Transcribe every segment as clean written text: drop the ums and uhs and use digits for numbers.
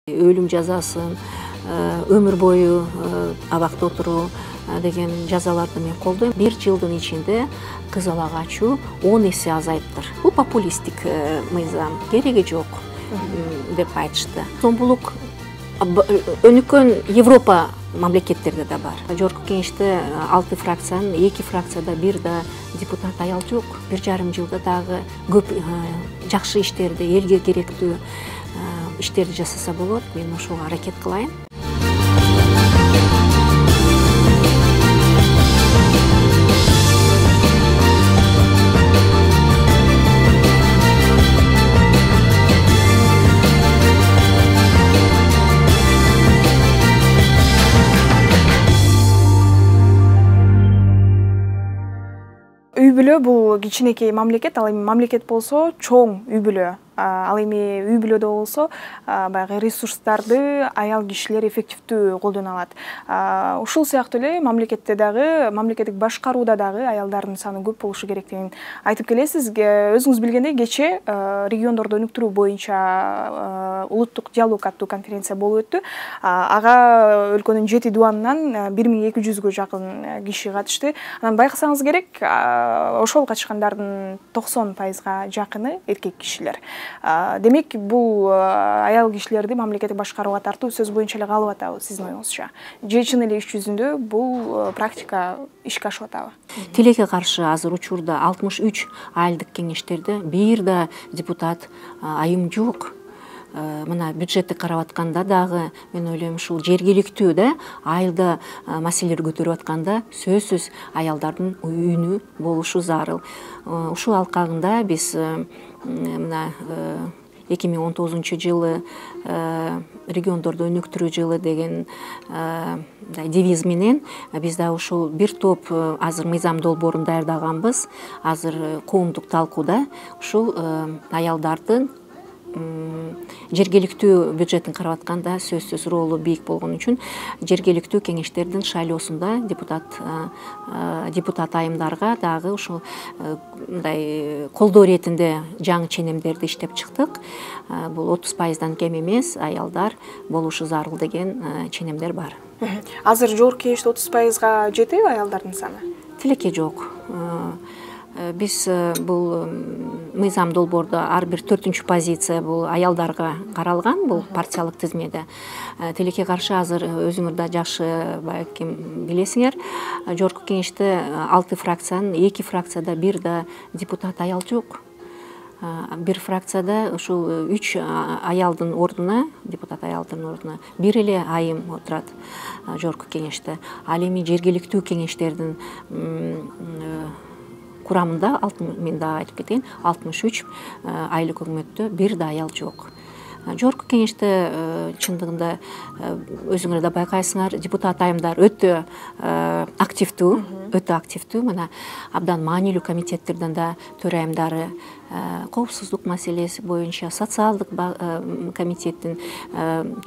Өлүм жазасын, өмүр бою абакта отуруу деген жазаларды мен колдойм. 1 жылдын ичинде кызыл качуу 10 эсе азайыптыр. Бул популисттик мыйзам, кереги жок деп айтышты. Зомбулук өнүккөн Европа мамлекеттерде да бар. Жогорку кеңеште 6 фракциянын 2 фракцияда бир да депутат аял жок. 1,5 жылда дагы көп жакшы иштерди, элге керектүү иштерди жасаса болот. Мен ошого аракет кылайын. Үй бүлө бул кичинекей мамлекет, ал эми мамлекет болсо чоң үй бүлө. Ал эми үй бүлөдө болсо баягы ресурстарды аял кишилер эффективдүү колдоно алат. Ушул сыяктуу эле мамлекетте дагы, мамлекеттик башкарууда дагы аялдардын саны көп болушу керектигин айтып келесиз. Өзүңүз билгендей, кече региондорду өнүктүрүү боюнча улуттук диалог аттуу конференция болуп өттү. Ага өлкөнүн 7 дубанынан 1200гө жакын киши катышты. Анан байкасаңыз керек, ошол катышкандардын 90%га жакыны эркек кишилер. Демек, бул аял кишилерди мамлекеттик башкарууга тартуу сөз боюнча эле калып атабы сиздин оюңузча? Же чын эле иш жүзүндө бул практика ишке ашып атабы? Тилекке каршы азыр учурда 63 айылдык кеңештерде бир да депутат айым жок. Мына бюджетти карап атканда дагы мен ойлойм, ушул жергиликтүү да айылда маселелер көтөрүп атканда сөзсүз аялдардын үнү болушу зарыл. Ушул алкагында биз мына 2019-жылы региондорду өнүктүрүү жылы деген девиз менен биз да ушул бир топ азыр мыйзам долбоорун даярдаганбыз. Азыр коомдук талкууда ушул аялдардын жергиликтүү бюджеттин карап атканда сөзсүз ролу бийик болгон үчүн жергиликтүү кеңештердин шайлоосунда депутат айымдарга дагы ушул мындай колдоо иретинде жаңы ченемдерди иштеп чыктык. Бул 30%дан кем эмес аялдар болушу зарыл деген ченемдер бар. Азыр жогорку кеңеште 30%га жетеби аялдардын саны? Тилекке жок. Биз бул мыйзам долбоордо ар бир 4-чү позиция бул аялдарга каралган, бул партиялык тизмеде. Тилекке каршы азыр өзүңөр да жакшы балким билесиңер, жогорку кеңеште 6 фракциянын 2 фракцияда бир да депутат аял жок. Бир фракцияда ушул 3 аялдын ордуна, депутат аялдын ордуна бир эле айым отурат жогорку кеңеште. Ал эми жергиликтүү кеңештердин курамында мен дагы айтып кетейин, 63 айлык өкмөттө бир да аял жок. Жогорку кеңеште чындыгында өзүңөр да байкайсыңар, депутат айымдар өтө активдүү, мына абдан маанилүү комитеттерден да төрайымдары, коопсуздук маселеси боюнча социалдык комитеттин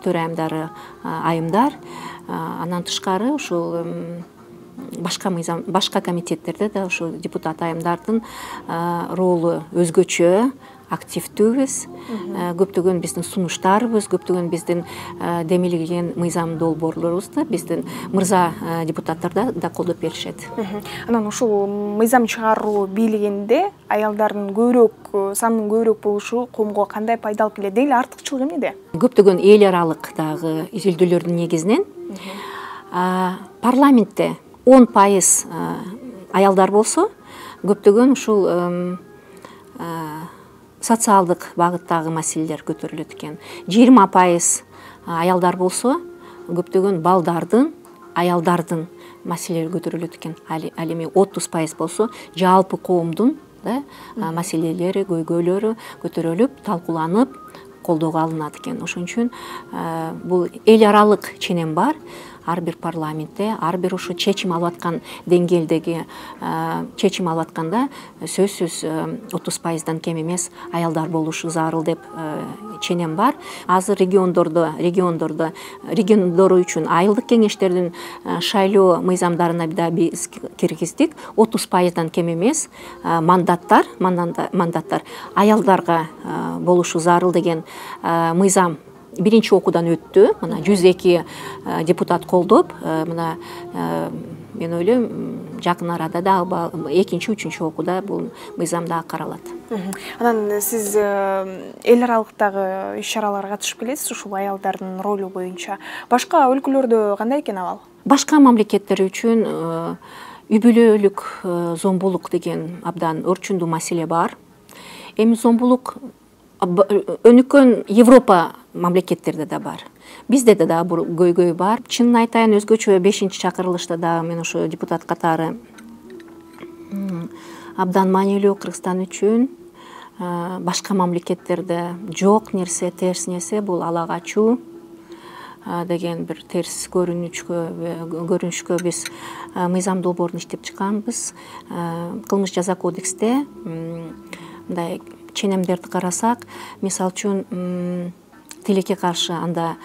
төрайымдары айымдар. Андан тышкары ушул башка комитеттерде да ушул депутат айымдардын ролу өзгөчө, активдүүбүз. Көптөгөн биздин сунуштарыбыз, көптөгөн биздин демилген мыйзам долбоорлорубузду биздин мырза депутаттар да колдоп беришет. Анан ушул мыйзам чыгаруу бийлигинде аялдардын санынын көбүрөөк болушу коомго кандай пайда алып келет? Деги артыкчылыгы эмнеде? Көптөгөн эл аралык дагы изилдөөлөрдүн негизинен парламентте 10% аялдар болсо, көптөгөн ушул социалдык багыттагы маселелер көтөрүлөт экен. 20% аялдар болсо, көптөгөн балдардын, аялдардын маселелери көтөрүлөт экен. Ал эми 30% болсо, жалпы коомдун маселелери, көйгөйлөрү көтөрүлүп, талкууланып, колдоого алынат экен. Ошон үчүн бул эл аралык ченем бар. Ар бир парламентте, ар бир ушу чечим алып аткан деңгээлдеги чечим алып атканда сөзсүз 30%дан кем эмес аялдар болушу зарыл деп ченем бар. Азыр региондор үчүн айылдык кеңештердин шайлоо мыйзамдарына да биз киргиздик. 30%дан кем эмес мандаттар аялдарга болушу зарыл деген мыйзам биринчи окуудан өттү. Мына 102 депутат колдоп, мына мен ойлойм жакын арада дагы экинчи, үчүнчү окууда бул мыйзам дагы каралат. Анан сиз эл аралыктагы иш-чараларга катышып келесиз ушул аялдардын ролу боюнча. Башка өлкөлөрдө кандай экен абал? Башка мамлекеттер үчүн үй бүлөлүк зомбулук деген абдан өрчүндүү маселе бар. Эми зомбулук өнүккөн Европа мамлекеттерде да бар. Бизде да дагы көйгөй бар. Чынын айтайын, өзгөчө 5-чакырылышта дагы мен ошо депутат катары абдан маанилүү Кыргызстан үчүн башка мамлекеттерде жок нерсе, терс нерсе бул ала качуу деген бир терс көрүнүшкө биз мыйзам долбоорун иштеп чыкканбыз. Кылмыш жаза кодексте мындай ченемдерди карасак, мисалы үчүн тилекке каршы анда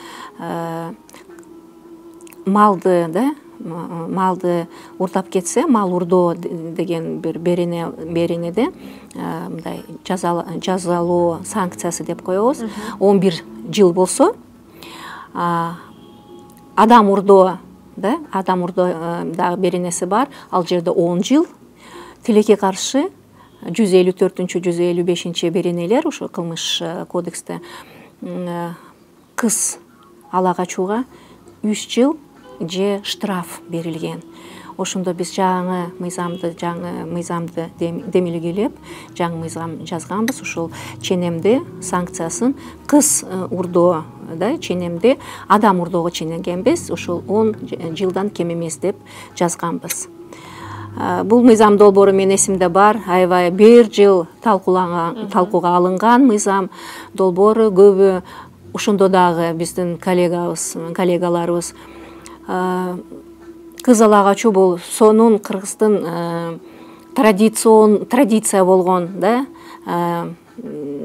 малды урдап кетсе, мал урдоо деген бир беренеде мындай жазалоо санкциясы деп коебуз. 11 жыл болсо, адам урдоо дагы беренеси бар, ал жерде 10 жыл. Тилекке каршы 154-155 беренелер ошо кылмыш кодексте кыз ала качууга 3 жыл же штраф берилген. Ошондо биз жаңы мыйзамды демилгелеп, жаңы мыйзам жазганбыз. Ушул ченемди санкциясын кыз урдоо ченемди адам урдоого ченегенбиз. Ушул 10 жылдан кем эмес деп жазганбыз. Бул мыйзам долбоору менин эсимде бар. Аябай 1 жыл талкууга алынган мыйзам долбоору. Көбү ошондо дагы биздин коллегаларыбыз кыз ала качуу бул сонун Кыргыздын традиция болгон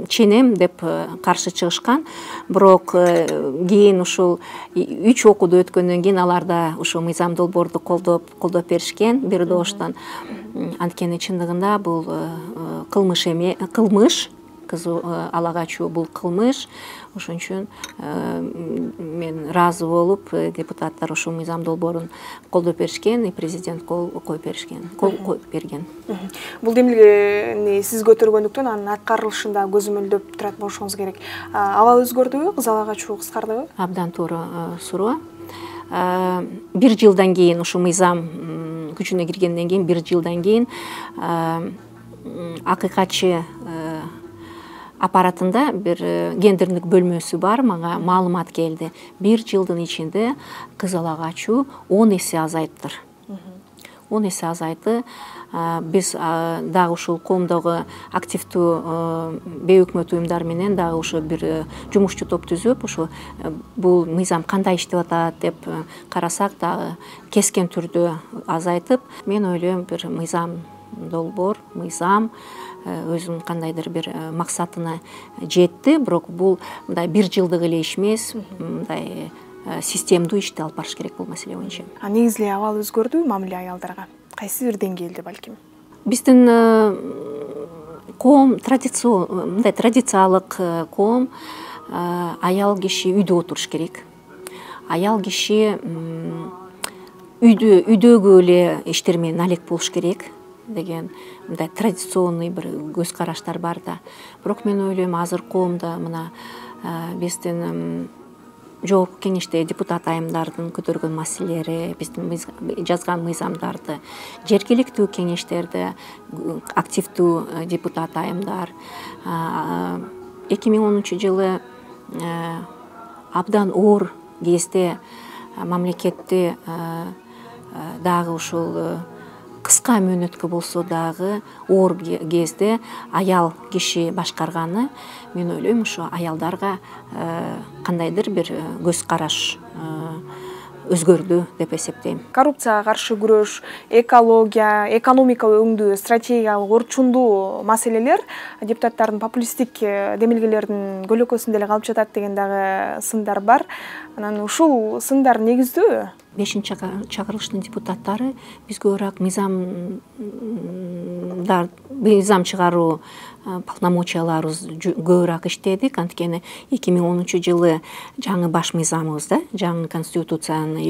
ченем деп каршы чыгышкан. Бирок кийин ушул 3 окууду өткөндөн кийин алар да ушул мыйзам долбоорду колдоп беришкен бир добуштан. Анткени чындыгында бул кылмыш, кыз ала качуу бул кылмыш. Ошон үчүн мен ыраазы болуп, депутаттар ушул мыйзам долбоорун колдоп беришкен, и президент кол коюп берген. Бул демилгени сиз көтөргөндүктөн анын аткарылышында көзөмөлдөп турат болушуңуз керек. Абал өзгөрдүбү? Кыз ала качуу кыскардыбы? Абдан туура суроо. 1 жылдан кийин ушул мыйзам күчүнө киргенден кийин 1 жылдан кийин акыйкатчы аппаратында бир гендердик бөлмөсү бар, мага маалымат келди. 1 жылдын ичинде кыз ала качуу 10 эсе азайыптыр. 10 эсе азайды. Биз дагы ушул коомдогу активдүү бейөкмөт уюмдар менен дагы ошо бир жумушчу топ түзүп, ошо бул мыйзам кандай иштеп атат деп карасак дагы кескен түрдө азайтып, мен ойлойм бир долбоор, мыйзам өзүнүн кандайдыр бир максатына жетти, бирок бул мындай 1 жылдык эле иш эмес, мындай системдүү ишти алып барыш керек бул маселе боюнча. Негизи эле абал өзгөрдүбү мамиле аялдарга? Кайсы бир деңгээлде балким? Биздин коом традициялык коом, аял киши үйдө отуруш керек. Аял киши үйдөгү эле иштер менен алек болуш керек деген мындай традиционный бир көз караштар бар да. Бирок мен ойлойм, азыр коомдо мына биздин жогорку кеңеште депутат айымдардын көтөргөн маселелери, биздин жазган мыйзамдарды, жергиликтүү кеңештерде активдүү депутат айымдар 2010 жылы абдан оор кезде мамлекетти дагы ушул кыска мөөнөткө болсо дагы оор кезде аял киши башкарганы, мен ойлойм ушу аялдарга кандайдыр бир көз караш өзгөрдү деп эсептейм. Коррупцияга каршы күрөш, экология, экономика өңдүү, стратегиялык орчундуу маселелер депутаттардын популисттик демилгелердин көлөкөсүндө эле калып жатат деген дагы сындар бар. Анан ушул сындар негиздүү? 5-чакырылыштын депутаттары биз көбүрөөк мыйзам чыгаруу полномочияларыбыз көбүрөөк иштедик. Анткени 2010-жылы жаңы баш мыйзамыбыз да, жаңы конституцияны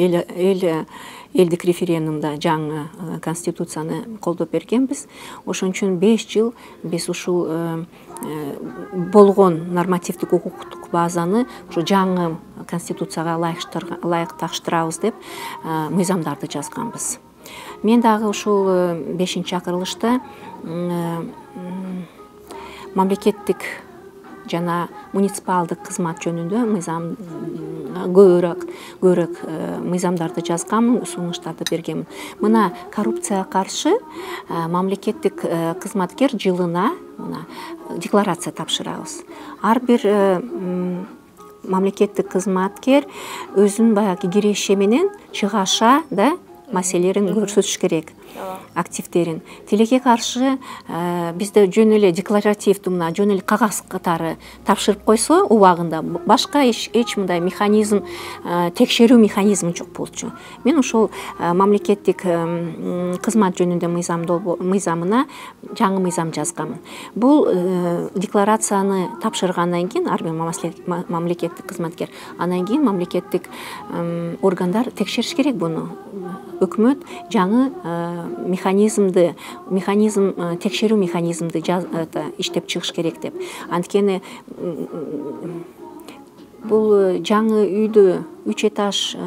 элдик референдумда жаңы конституцияны колдоп бергенбиз. Ошон үчүн 5 жыл биз ушул болгон нормативдик укуктук базаны ушу жаңы конституцияга ылайыкташтырабыз деп мыйзамдарды жазганбыз. Мен дагы ушул 5-чакырылышта мамлекеттик жана муниципалдык кызмат жөнүндө мыйзам көбүрөөк мыйзамдарды жазганмын, сунуштарды бергенмин. Мына коррупцияга каршы мамлекеттик кызматкер жылына декларация тапшырабыз. Ар бир мамлекеттик кызматкер өзүнүн баягы киреши менен чыгаша да маселелерин көрсөтүш керек, активдерин. Тилекке каршы бизде жөн эле декларативдүү мына жөн эле кагаз катары тапшырып койсо убагында башка эч мындай механизм, текшерүү механизми жок болчу. Мен ошол мамлекеттик кызмат жөнүндө мыйзамына жаңы мыйзам жазганмын. Бул декларацияны тапшыргандан кийин ар бир мамлекеттик кызматкер, андан кийин мамлекеттик органдар текшериш керек буну. Өкмөт жаңы текшерүү механизмди иштеп чыгыш керек деп. Анткени бул жаңы үйдө 3 этаж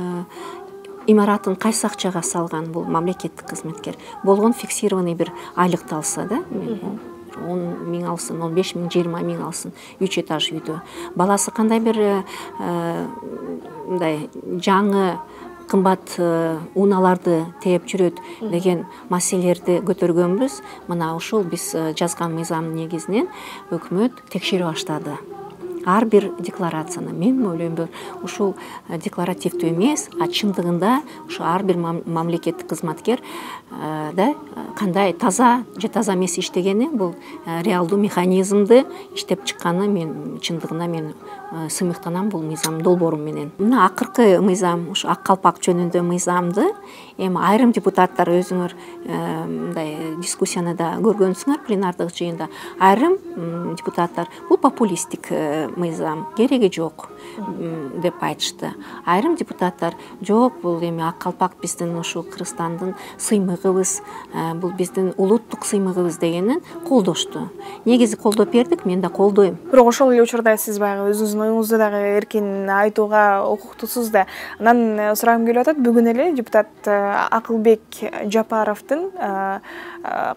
имаратын кайсы акчага салган бул мамлекеттик кызматкер? Болгон фиксированный бир айлыкты алса да, 10 миң алсын, 15 миң, 20 миң алсын 3 этаж үйдө. Баласы кандай бир мындай жаңы кымбат унааларды тээп жүрөт деген маселелерди көтөргөнбүз. Мына ушул биз жазган мыйзамдын негизинен өкмөт текшере баштады. Ар бир декларацияны. Мен ойлойм, ушул декларативдүү эмес, а чындыгында ушу ар бир мамлекеттик кызматкер да кандай таза же таза эмес иштегени, бул реалдуу механизмди иштеп чыкканы мен чындыгында мен сыймыктанам бул мыйзам долбоору менен. Мына акыркы мыйзам, ушу ак калпак жөнүндө мыйзамды эми айрым депутаттар өзүңөр мындай дискуссияны да көргөнсүңөр пленардык жыйында. Айрым депутаттар бул популисттик мыйзам, кереги жок деп айтышты. Айрым депутаттар жок, бул эми ак калпак биздин ушу Кыргызстандын сыймыгыбыз, бул биздин улуттук сыймыгыбыз дегенин колдошту. Негизи колдоп бердик, мен да колдойм. Бирок ошол эле учурда сиз баягы өзүңүздүн оюңузду дагы эркин айтууга укуктусуз да. Анан сурагым келип атат, бүгүн эле депутат Акылбек Жапаровдун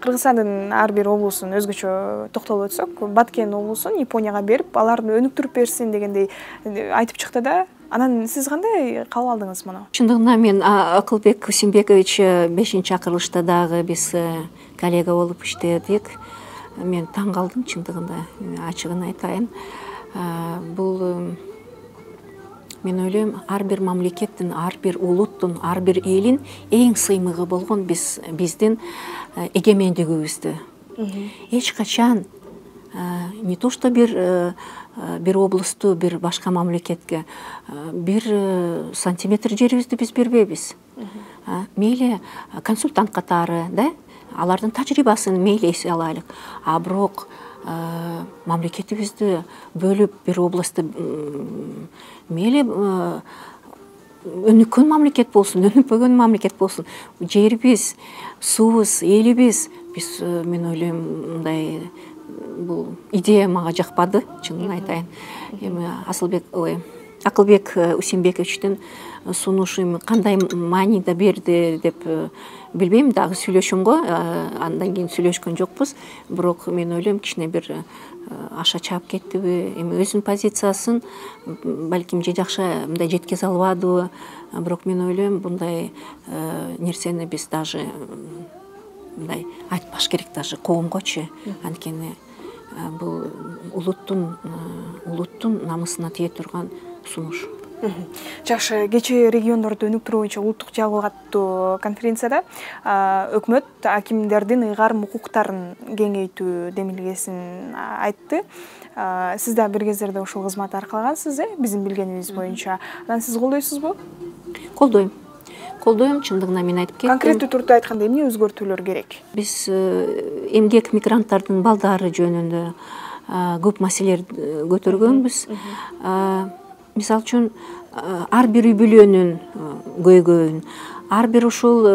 Кыргызстандын ар бир облусун өзгөчө токтолуп өтсөк, Баткен облусун Японияга берип, аларды өнүктүрүп берсин дегендей айтып чыкты да. Анан сиз кандай кабыл алдыңыз муну? Чындыгында мен Акылбек Усенбекович 5-чакырылышта дагы биз коллега болуп иштедик. Мен таң калдым чындыгында, ачыгын айтайын. Бул мен ойлойм, ар бир мамлекеттин, ар бир улуттун, ар бир элин эң сыймыгы болгон биздин эгемендигибизди. Эч качан не то что бир облусту, бир башка мамлекетке бир сантиметр жерибизди биз бербейбиз. Мейли консультант катары, да, алардын тажрыйбасын мейли эсе алайлык. А бирок мамлекетибизди бөлүп бир областты мейли өнүккөн мамлекет болсун, өнүкпөгөн мамлекет болсун, жерибиз, суубуз, элибиз, биз мен ойлойм, мындай бул идея мага жакпады, чынын айтайын. Эми Акылбек Усенбековичтин сунушу кандай мааниде берди деп билбейм, дагы сүйлөшөм го, андан кийин сүйлөшкөн жокпуз. Бирок мен ойлойм, кичине бир аша чаап кеттиби, эми өзүнүн позициясын балким же жакшы мындай жеткизе албадыбы. Бирок мен ойлойм, bunday нерсени биз даже мындай айтпаш керек, даже коомгочу. Анткени бул улуттун намысына тие турган сунуш. Жакшы, кечээ региондорду өнүктүрүү боюнча улуттук жалпы каттуу конференцияда өкмөт акимдердин ыйгарым укуктарын кеңейтүү демилгесин айтты. Сиз да бир кездерде ушул кызматты аркалагансыз, биздин билгенибиз боюнча. Анан сиз колдойсузбу? Колдойм. колдойм, чындыгына мен айтып кеттим. Конкреттүү түрдө айтканда эмне өзгөртүүлөр керек? Биз эмгек мигранттардын балдары жөнүндө көп маселелер көтөргөнбүз. Мисалы үчүн ар бир үй бүлөнүн көйгөйүн, ар бир ушул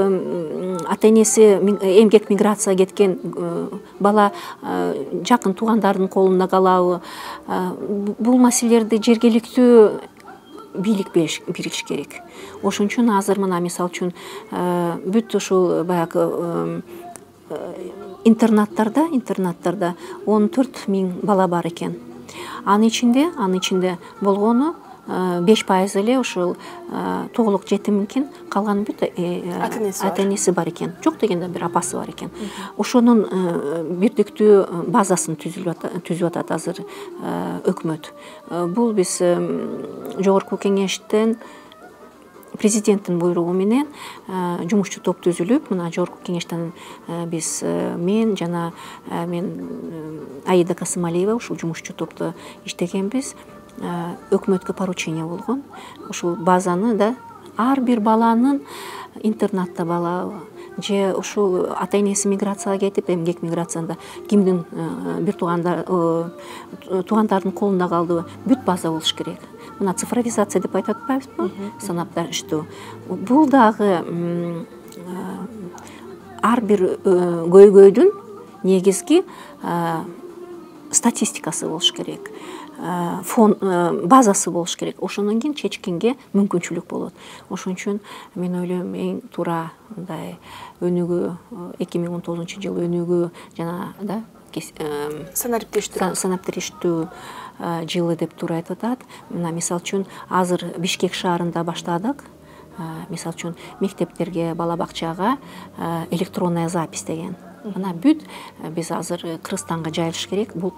ата энеси эмгек миграция кеткен бала жакын туугандардын колунда калабы, бул маселелерди жергиликтүү бийлик бериш керек. Ошон үчүн азыр мына мисалы үчүн бүт ушул баягы интернаттарда 14 000 бала бар экен. Анын ичинде болгону 5% эле ушул тоголук жетим экен, калган бүт ата энеси бар экен. Жок дегенде бир апасы бар экен. Ошонун бирдиктүү базасын түзүп атат азыр өкмөт. Бул биз жогорку кеңештен президенттин буйругу менен жумушчу топ түзүлүп, мына жогорку кеңештен биз мен Аида Касымалиева ушул жумушчу топто иштегенбиз. Өкмөткө поручение болгон. Ушул базаны да ар бир баланын интернатта балабы же ушул ата энеси миграцияга кетип, эмгек миграцияда кимдин бир туугандардын колунда калдыбы, бүт база болуш керек. Мына цифровизация деп айтып атпайбызбы? Санапташтуу. Бул дагы ар бир көйгөйдүн негизги статистикасы болуш керек. Фон базасы болуш керек. Ошондон кийин чечкенге мүмкүнчүлүк болот. Ошон үчүн мен ойлойм эң туура мындай өнүгүү 2019 өнүгүү жана санариптештүү жылы деп туура айтып атат. Мына мисалы үчүн азыр Бишкек шаарында баштадык. Мисалы үчүн мектептерге, бала бакчага электронная запись деген. Мына бүт биз азыр Кыргызстанга жайылыш керек. Бул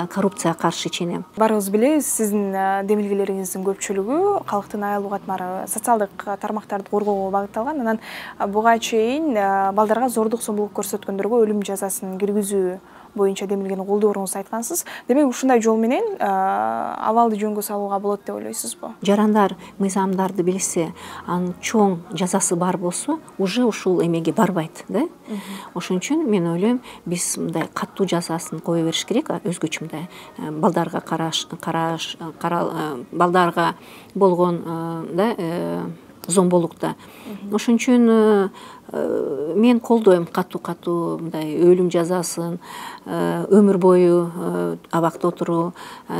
коррупцияга каршы ченем. Баарыбыз билебиз, сиздин демилгелериңиздин көпчүлүгү калктын аялуу катмары, социалдык тармактарды коргоого багытталган. Анан буга чейин балдарга зордук зомбулук көрсөткөндөргө өлүм жазасын киргизүү боюнча демилгени колдооруңузду айткансыз. Демек ушундай жол менен абалды жөнгө салууга болот деп ойлойсузбу? Жарандар мыйзамдарды билсе, анын чоң жазасы бар болсо, уже ушул эмеге барбайт, да? Ошон үчүн мен ойлойм, биз мындай катуу жазасын кое бериш керек, өзгөчө мындай балдарга балдарга болгон зомбулукта. Ошон үчүн мен колдойм катуу мындай өлүм жазасын, өмүр бою абакта отуруу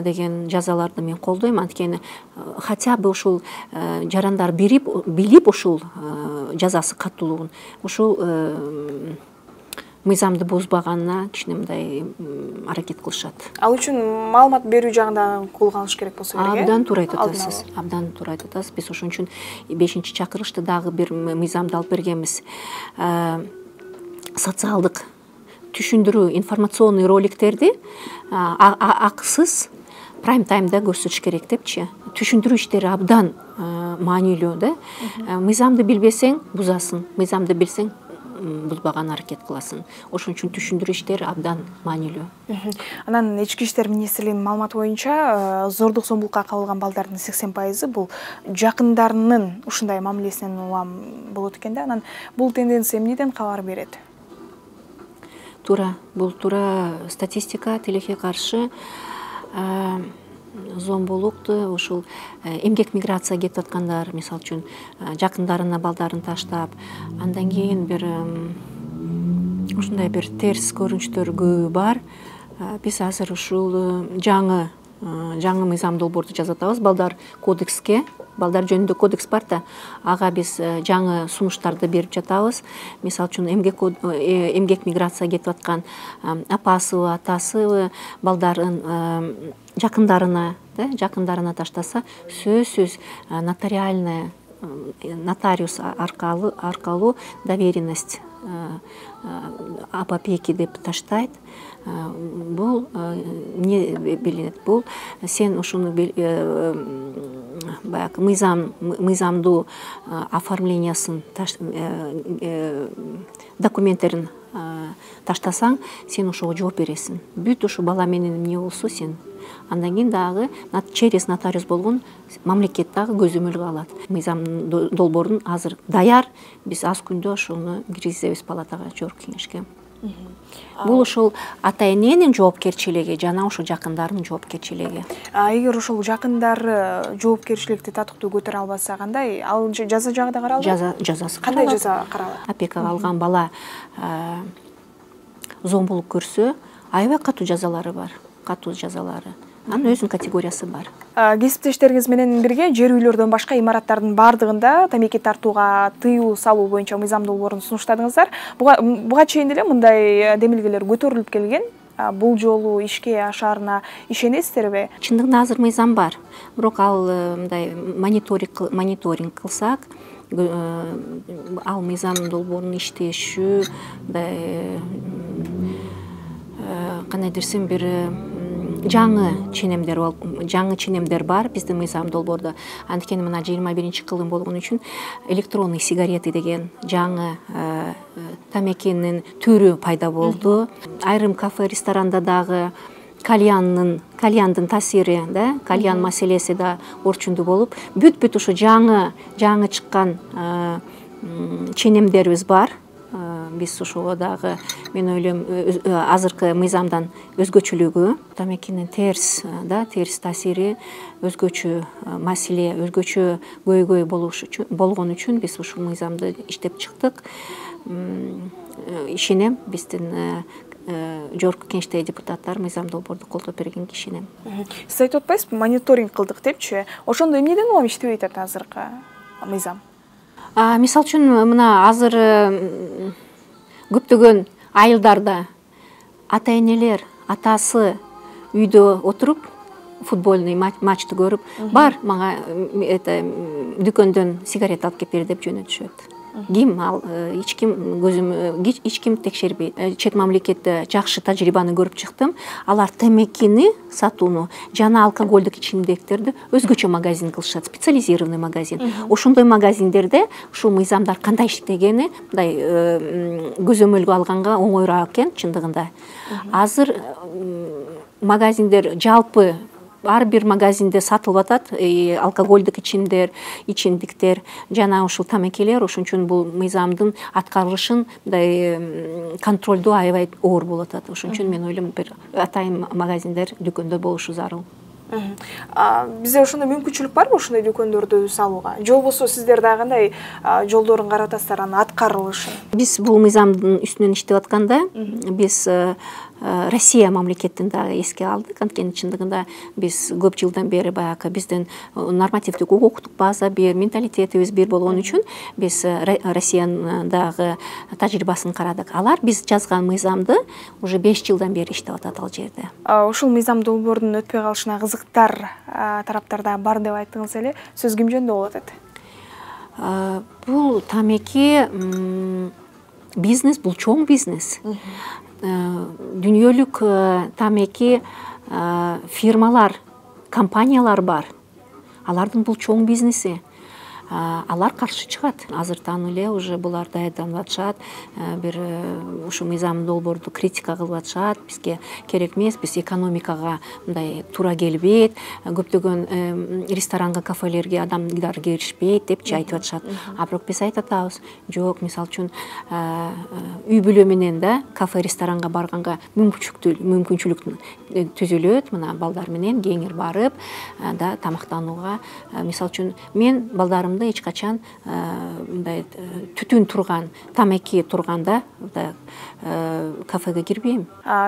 деген жазаларды мен колдойм. Анткени хотя бы ушул жарандар билип ушул жазасы катуулугун, ушул мыйзамды бузбаганына кичинеминдай аракет кылышат. Ал үчүн маалымат берүү жагында кол алыш керек болсо керек. Абдан туура айтып атасыз. Абдан туура айтып атасыз. Биз ошон үчүн 5-чакырылышта дагы бир мыйзамды алып бергенбиз. Социалдык түшүндүрүү информационный роликтерди акысыз прайм таймда көрсөтүш керек депчи. Түшүндүрүү иштери абдан маанилүү да. Мыйзамды билбесең бузасың, мыйзамды билсең бузбаган аракет кыласың. Ошон үчүн түшүндүрүү иштери абдан маанилүү. Анан Ички иштер министрлигинин маалыматы боюнча зордук зомбулукка кабылган балдардын 80% бул жакындарынын ушундай мамилесинен улам болот экен да. Анан бул тенденция эмнеден кабар берет? Бул туура статистика. Тилекке каршы зомбулукту ушул эмгек миграция кетип аткандар, мисалы үчүн жакындарына балдарын таштап, андан кийин бир ушундай бир терс көрүнүштөр көбү бар. Биз азыр ушул жаңы мыйзам долбоорду жазып атабыз. Балдар жөнүндө кодекс бар да, ага биз жаңы сунуштарды берип жатабыз. Мисалы үчүн эмгек миграция кетип аткан апасыбы, атасыбы балдарын жакындарына таштаса, сөзсүз нотариус аркылуу доверенность об опеке деп таштайт. Бул эмне билинет? Бул сен ушуну баягы мыйзамдуу оформлениясын документтерин таштасаң, сен ошого жооп бересиң. Бүт ушу бала менен эмне болсо сен андан кийин дагы через нотариус болгон мамлекет дагы көзөмөлгө алат. Мыйзам долбоорун азыр даяр, биз аз күндө ошону киргизебиз палатага, жогорку кеңешке. Бул ошол ата эненин жоопкерчилиги жана ошо жакындардын жоопкерчилиги. Эгер ошол жакындары жоопкерчиликти татыктуу көтөрө албаса кандай? Ал жаза жагы да каралат? Жазасы кандай жаза каралат? Опекага алган бала зомбулук көрсө, аябай катуу жазалары бар. Катуу жазалары. Анын өзүнүн категориясы бар. Кесиптештериңиз менен бирге жер үйлөрдөн башка имараттардын бардыгында тамеки тартууга тыюу салуу боюнча мыйзам долбоорун сунуштадыңыздар. Буга чейин деле мындай демилгелер көтөрүлүп келген. Бул жолу ишке ашаарына ишенесиздерби? Чындыгында азыр мыйзам бар. Бирок ал мындай мониторинг кылсак, ал мыйзам долбоорунун иштеши кандай десем бир жаңы ченемдер бар биздин мыйзам долбоордо. Анткени мына 21-кылым болгон үчүн электронный сигареты деген жаңы тамекинин түрү пайда болду. Айрым кафе, ресторанда дагы кальяндын таасири, кальян маселеси да орчундуу болуп, бүт ошо жаңы чыккан ченемдерибиз бар. Биз ошого дагы мен ойлойм азыркы мыйзамдан өзгөчөлүгү, тамекинин терс таасири, өзгөчө маселе, өзгөчө көйгөй болгон үчүн биз ушул мыйзамды иштеп чыктык. Ишенем, биздин жогорку кеңештеги депутаттар мыйзам долбоорду колдоп бергенге ишенем. Сиз айтып атпайсызбы, мониторинг кылдык депчи? Ошондо эмнеден улам иштебей атат азыркы мыйзам? Мисалы үчүн мына азыр көптөгөн айылдарда ата энелер, атасы үйдө отуруп футбольный матчты көрүп, бар мага дүкөндөн сигарет алып кеп бер деп жөнөтүшөт. Ким ал, эч ким текшербейт. Чет мамлекетте жакшы тажрыйбаны көрүп чыктым. Алар темекини сатууну жана алкоголдук ичимдиктерди өзгөчө магазин кылышат, специализированный магазин. Ошондой магазиндерде ушул мыйзамдар кандай иштегени мындай көзөмөлгө алганга оңоюраак экен чындыгында. Азыр магазиндер жалпы ар бир магазинде сатылып атат алкоголдук ичимдиктер жана ушул тамекелер. Ошон үчүн бул мыйзамдын аткарылышын мындай контролдоо аябай оор болуп атат. Ошон үчүн мен ойлойм бир атайын магазиндер, дүкөндөр болушу зарыл. Бизде ошондой мүмкүнчүлүк барбы ошондой дүкөндөрдү салууга? Же болбосо сиздер дагы кандай жолдорун карап атасыздар анын аткарылышын? Биз бул мыйзамдын үстүнөн иштеп атканда биз Россия мамлекетин дагы эске алдык. Анткени чындыгында биз көп жылдан бери баягы биздин нормативдик укуктук база бир, менталитетибиз бир болгон үчүн биз Россиянын дагы тажрыйбасын карадык. Алар биз жазган мыйзамды уже 5 жылдан бери иштеп атат ал жерде. Ушул мыйзам долбоордун өтпөй калышына кызыктар тараптарда бар деп айттыңыз эле. Сөз ким жөнүндө болуп атат? Бул тамеки бизнес, бул чоң бизнес. Дүйнөлүк тамеки фирмалар, компаниялар бар. Алардын бул чоң бизнеси. Алар каршы чыгат. Азыртан эле уже булар даярданып атышат. Бир ушу мыйзам долбоорду критика кылып атышат. Бизге керек эмес, биз экономикага мындай туура келбейт. Көптөгөн ресторанга, кафелерге адамдар киришпейт депчи айтып атышат. Бирок биз айтып атабыз, жок, мисалы үчүн үй бүлө менен да кафе, ресторанга барганга мүмкүнчүлүк түзүлөт. Мына балдар менен кеңир барып, да тамактанууга. Мисалы үчүн мен балдарым эч качан мындай түтүн турган, тамеки турганда кафеге кирбейм.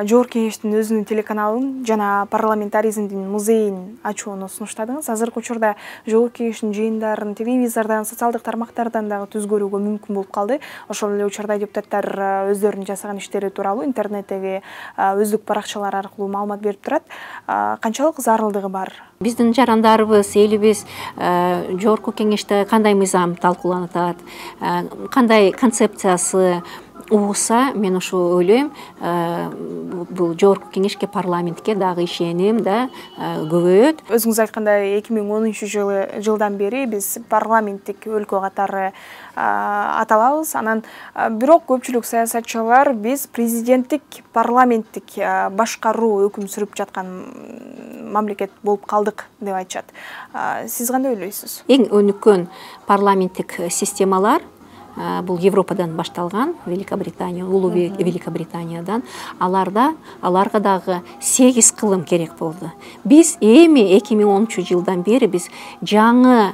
Жогорку кеңештин өзүнүн телеканалын жана парламентаризмдин музейин ачууну сунуштадыңыз. Азыркы учурда жогорку кеңештин жыйындарын телевизордон, социалдык тармактардан дагы түз көрүүгө мүмкүн болуп калды. Ошол эле учурда депутаттар өздөрүнүн жасаган иштери тууралуу интернеттеги өздүк баракчалар аркылуу маалымат берип турат. Канчалык зарылдыгы бар? Биздин жарандарыбыз, элибиз жогорку кеңеште кандай мыйзам талкууланып атат, кандай концепциясы, угса, мен ошо ойлойм, бул жогорку кеңешке, парламентке дагы ишеним да көбөйөт. Өзүңүз айткандай 2010-жылдан бери биз парламенттик өлкө катары аталабыз. Анан бирок көпчүлүк саясатчылар биз президенттик, парламенттик башкаруу өкүм сүрүп жаткан мамлекет болуп калдык деп айтышат. Сиз кандай ойлойсуз? Эң өнүккөн парламенттик системалар бул Европадан башталган, Великобритания, улуу Великобританиядан. Аларга дагы 8 кылым керек болду. Биз эми 2010-жылдан бери биз жаңы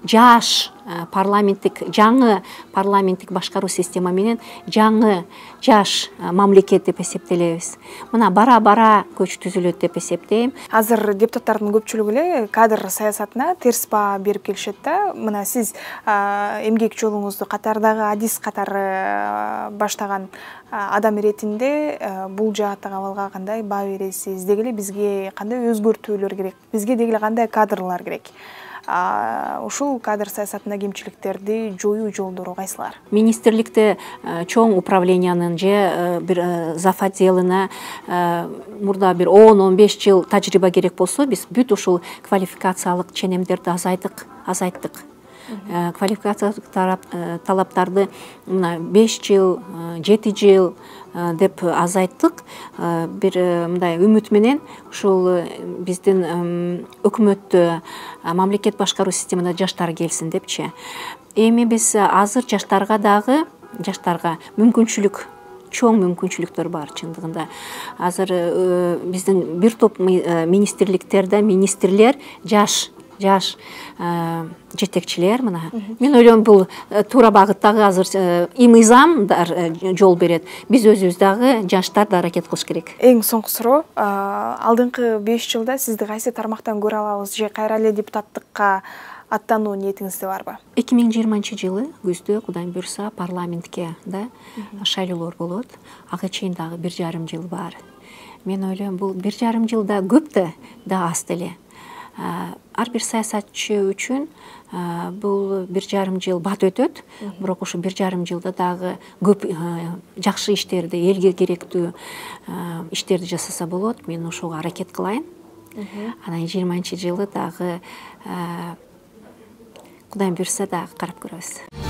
жаш жаңы парламенттик башкаруу система менен жаңы жаш мамлекет деп эсептелебиз. Мына бара көч түзүлөт деп эсептейм. Азыр депутаттардын көпчүлүгү эле кадр саясатына терс баа берип келишет да. Мына сиз эмгек жолуңузду катардагы адис катары баштаган адам иретинде бул жааттагы абалга кандай баа бересиз? Деги эле бизге кандай өзгөртүүлөр керек? Бизге деги эле кандай кадрлар керек? Ушул кадр саясатында кемчиликтерди жоюу жолдору кайсылар? Министрликте чоң управлениянын же бир зав. Отделына мурда бир 10-15 жыл тажрыйба керек болсо, биз бүт ушул квалификациялык ченемдерди азайттык. Квалификациялык талаптарды мына 5 жыл, 7 жыл деп азайттык. Бир мындай үмүт менен ушул биздин өкмөттө, мамлекет башкаруу системасына жаштар келсин депчи. Эми биз азыр жаштарга чоң мүмкүнчүлүктөр бар чындыгында. Азыр биздин бир топ министрликтерде министрлер жаш жетекчилер. Мына мен ойлойм, бул туура багыттагы азыр мыйзамдар жол берет. Биз өзүбүз дагы жаштарды аракет кылыш керек. Эң соңку суроо, алдыңкы 5 жылда сизди кайсы тармактан көрө алабыз же кайра эле депутаттыкка аттануу ниетиңизде барбы? 2020-жылы күздө Кудайым буйрса парламентке да шайлоолор болот. Ага чейин дагы 1,5 жыл бар. Мен ойлойм, бул 1,5 жылда көп да аз деле. Ар бир саясатчы үчүн бул 1,5 жыл бат өтөт, бирок ушу 1,5 жылда дагы көп жакшы иштерди, элге керектүү иштерди жасаса болот. Мен ошого аракет кылайын. Анан 20-жылы дагы Кудайым буйрса дагы карап көрөбүз.